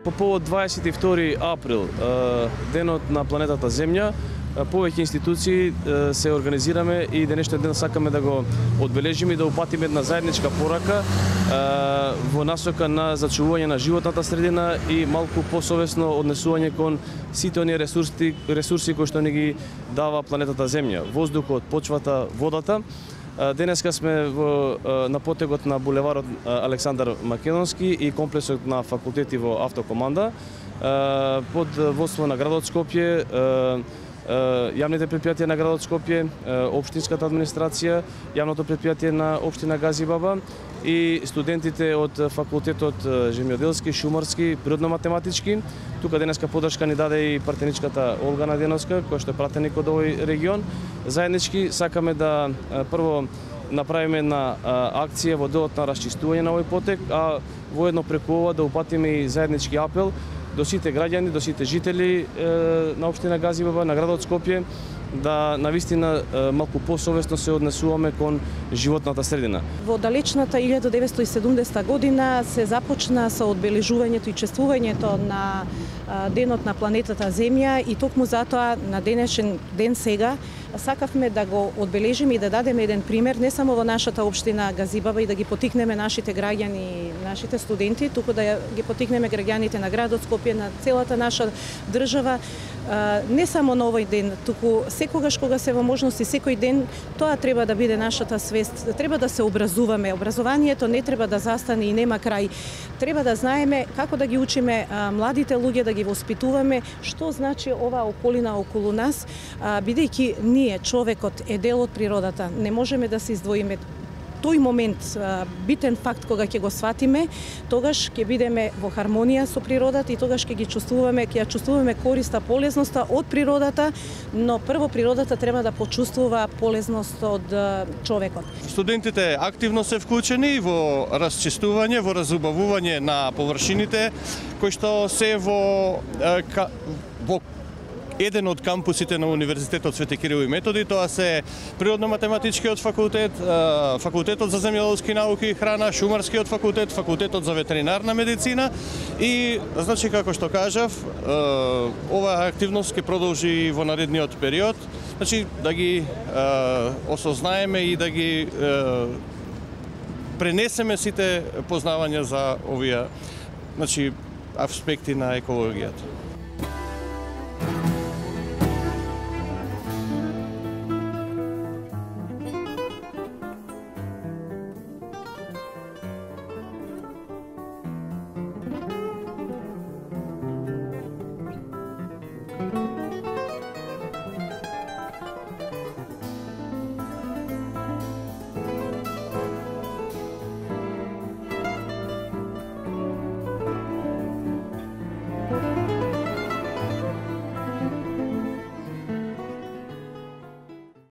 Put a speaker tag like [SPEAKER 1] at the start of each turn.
[SPEAKER 1] По повод 22 април, денот на планетата Земја, повеќе институции се организираме и денешниот ден сакаме да го одбележиме и да упатиме една заедничка порака во насока на зачувување на животната средина и малку посовесно однесување кон сите оние ресурси кои што ни ги дава планетата Земја, воздухот, почвата, водата. Денеска сме на потегот на булеварот Александар Македонски и комплексот на факултети во Автокоманда под водство на градот Скопје, јавните предпријатија на градот Скопје, општинската администрација, јавното предпријатие на општина Газибаба и студентите од факултетот Земјоделски, Шумарски, Природно-математички. Тука денеска подршка ни даде и партеничката Олга Наденовска, која што е пратеник од овој регион. Заеднички сакаме да прво направиме една акција во делот на расчистување на овој потек, а воедно преку ова да упатиме и заеднички апел до сите граѓани, до сите жители на општина Газибаба, на градот Скопје, да навистина малку посовесно се однесуваме кон животната средина.
[SPEAKER 2] Во далечната 1970 година се започна со одбележувањето и чествувањето на денот на планетата Земја и токму затоа на денешен ден сега сакавме да го одбележиме и да дадеме еден пример не само во нашата општина Газибаба и да ги потикнеме нашите граѓани, нашите студенти, туку да ги потикнеме граѓаните на градот Скопје, на целата наша држава, не само на овој ден, туку секогаш кога се во можности, секој ден, тоа треба да биде нашата свест. Треба да се образуваме. Образованието не треба да застане и нема крај. Треба да знаеме како да ги учиме младите луѓе, да ги воспитуваме, што значи оваа околина околу нас, бидејќи ние, човекот, е дел од природата. Не можеме да се издвоиме. Тој момент, битен факт кога ќе го сватиме, тогаш ќе бидеме во хармонија со природата и тогаш ќе ги чувствуваме, ќе ја чувствуваме користа, полезноста од природата, но прво природата треба да почувствува полезност од човекот.
[SPEAKER 3] Студентите активно се вклучени во расчистување, во разубавување на површините кои што се во еден од кампусите на Универзитетот Свети Кирил и Методи, тоа се Природно-математичкиот факултет, Факултетот за земјоделски науки и храна, Шумарскиот факултет, Факултетот за ветеринарна медицина и, значи, како што кажав, оваа активност ќе продолжи во наредниот период, значи, да ги осознаеме и да ги пренесеме сите познавања за овие, значи, аспекти на екологијата.